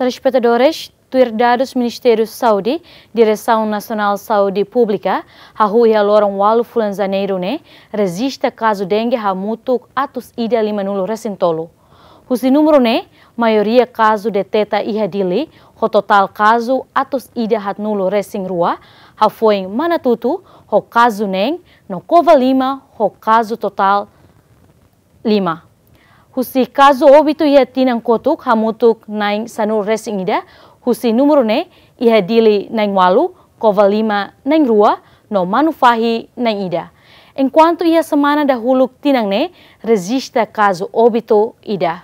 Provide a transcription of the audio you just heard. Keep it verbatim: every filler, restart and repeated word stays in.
Telespetadores, tuir dadus Ministériu Saúde, Diresaun Nasionál Saúde Públika hahú iha loron ualu fulan Janeiru ne'e rejista kazu dengue hamutuk atus ida lima-nulu resin tolu. Husi númeru ne'e, maioria kazu deteta iha Dili, ho totál kazu atus ida haat-nulu resin rua, hafoin Manatutu ho kazu neen, no Covalima ho kazu totál lima. Husi kazu óbitu iha tinan kotuk hamutuk na'in sanulu resin ida, husi númeru ne'e iha Dili na'in ualu, Covalima na'in rua, no Manufahi na'in ida. Enkuantu iha semana dahuluk tinan ne'e rejista kazu óbitu ida.